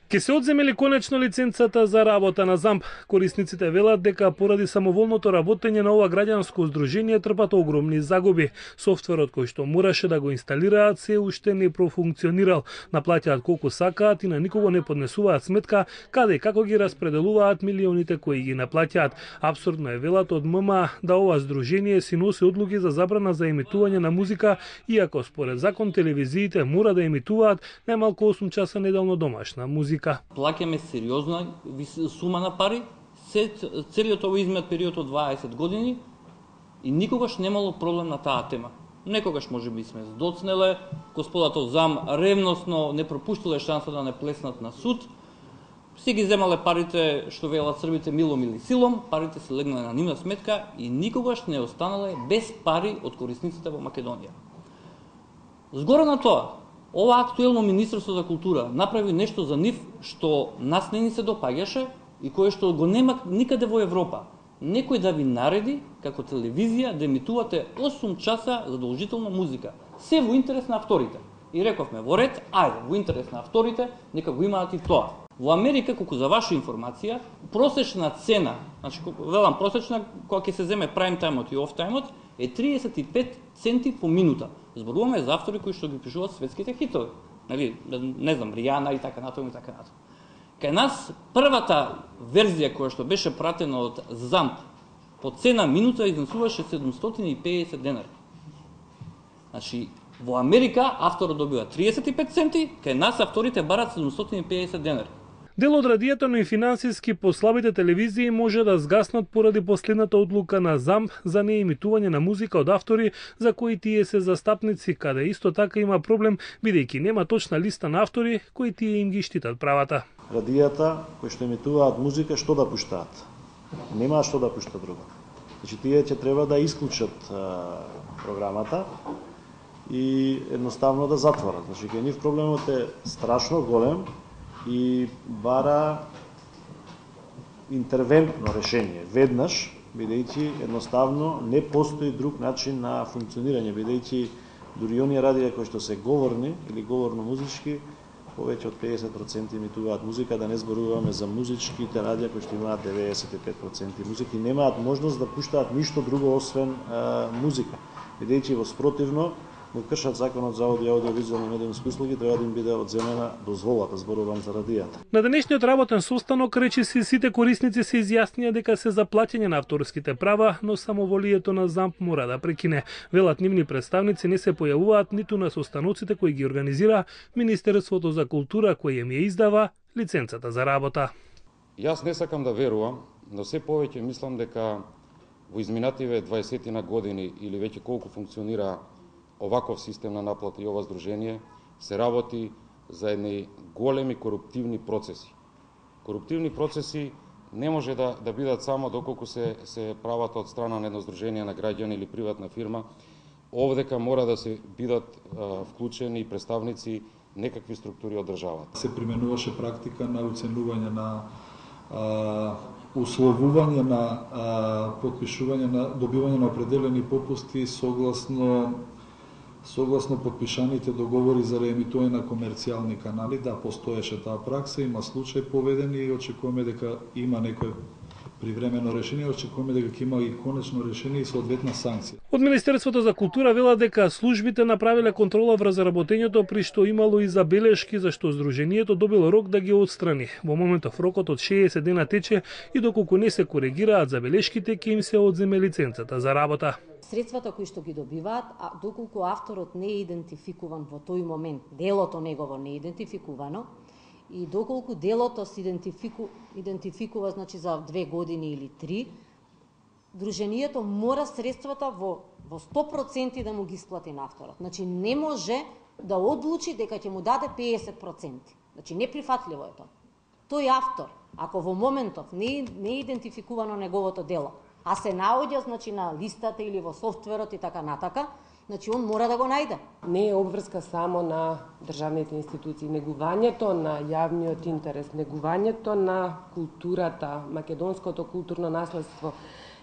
Ке се одземели конечно лиценцата за работа на ЗАМП. Корисниците велат дека поради самоволното работење на ова граѓанско здружение трпат огромни загуби. Софтверот кој што мораше да го инсталираат се уште не профункционирал. Наплаќаат колку сакаат и на никого не поднесуваат сметка каде и како ги распределуваат милионите кои ги наплаќаат. Апсурдно е, велат од ММА, да ова здружение си носи одлуки за забрана за емитување на музика, иако според закон телевизиите мора да емитуваат најмалку 8 часа неделно домашна музика. Плаќаме сериозна сума на пари, целиот овој изминат период од 20 години и никогаш немало проблем на таа тема. Некогаш може би сме здоцнеле, господата ЗАМ ревносно не пропуштиле шанса да не плеснат на суд, си ги земале парите, што велат србите, милом или силом, парите се легнале на нивна сметка и никогаш не останале без пари од корисниците во Македонија. Згоре на тоа, ова актуелно Министерство за култура направи нешто за нив што нас не ни се допаѓаше и кое што го нема никаде во Европа. Некој да ви нареди, како телевизија, да емитувате 8 часа задолжително музика. Се во интерес на авторите. И рековме, во ред, ајде, во интерес на авторите, нека го имаат и тоа. Во Америка, колку за ваша информација, просечна цена, значи, велам просечна, кога ќе се земе прайм тајмот и оф тајмот, е 35 центи по минута. Зборуваме за автори кои што ги пишуваат светските хитови. Нали, не знам, Ријана и така натаму и така натаму. Кај нас првата верзија која што беше пратена од ЗАМП по цена минута изнесуваше 750 денари. Значи, во Америка авторот добива 35 центи, кај нас авторите барат 750 денари. Дел од радијата, но и финансиски послабите телевизии може да згаснат поради последната одлука на ЗАМП за неемитување на музика од автори за кои тие се застапници, каде исто така има проблем бидејќи нема точна листа на автори кои тие им ги штитат правата. Радијата кои што емитуваат музика што да пуштаат? Нема што да пуштат друго. Значи тие ќе треба да исклучат програмата и едноставно да затворат. Значи кај нив проблемот е страшно голем и бара интервентно решение. Веднаш, бидејќи едноставно не постои друг начин на функционирање, бидејќи дури оние радија кои што се говорни или говорно-музички, повеќе од 50% емитуваат музика, да не зборуваме за музичките радија кои што имаат 95% музика и немаат можност да пуштаат ништо друго освен музика. Бидејќи во спротивно го кршат законот за аудио и аудиовизуелни медиумски услуги, треба да им биде одземена дозволата, зборувам за радијата. На денешниот работен состанок речиси сите корисници се изјаснија дека се за плаќање на авторските права, но самоволието на ЗАМП мора да прекине. Велат нивни представници не се појавуваат ниту на состаноците кои ги организира Министерството за култура кој им ја издава лиценцата за работа. Јас не сакам да верувам, но се повеќе мислам дека во изминативе 20 на години или веќе колку функционира оваков систем на наплата и ова здружение, се работи за едни големи коруптивни процеси. Коруптивни процеси не може да бидат само доколку се прават од страна на едно здружение на граѓани или приватна фирма. Овдека мора да се бидат вклучени представници некакви структури од државата. Се применуваше практика на оценување на условување на потпишување на добивање на определени попусти согласно подпишаните договори за реемитување на комерцијални канали. Да, постоеше таа пракса, има случај поведени и очекуваме дека има некој привремено решение, очекуваме дека ќе има и конечно решение и соодветна санкција. Од Министерството за култура вела дека службите направиле контрола врз работењето, при што имало и забелешки за што здружението добило рок да ги отстрани. Во моментов рокот од 60 дена тече и доколку не се коригираат забелешките, ќе им се одземе лиценцата за работа. Средствата кои што ги добиваат, а доколку авторот не е идентификуван во тој момент, делото негово не е идентификувано, и доколку делото се идентификува значи за 2 години или 3, дружението мора средствата во 100% да му ги исплати на авторот. Значи не може да одлучи дека ќе му даде 50%. Значи неприфатливо е тоа. Тој автор, ако во моментов не е идентификувано неговото дело, а се наоѓа значи на листата или во софтверот и така натака, значи он мора да го најде. Не е обврска само на државните институции, негувањето на јавниот интерес, негувањето на културата, македонското културно наследство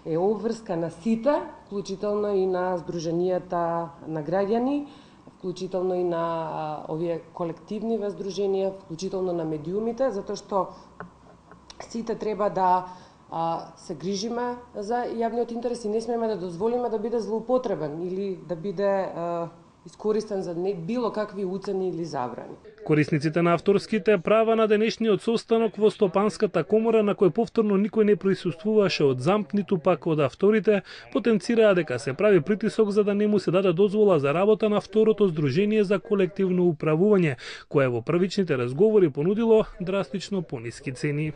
е обврска на сите, вклучително и на здруженијата на граѓани, вклучително и на овие колективни воздруженија, вклучително на медиумите, затоа што сите треба да се грижиме за јавниот интерес и не смееме да дозволиме да биде злоупотребен или да биде искористен за било какви уцени или забрани. Корисниците на авторските права на денешниот состанок во Стопанската комора, на кој повторно никој не присуствуваше од ЗАМП, ниту пак од авторите, потенцираа дека се прави притисок за да не му се даде дозвола за работа на второто здружение за колективно управување, кое во првичните разговори понудило драстично пониски цени.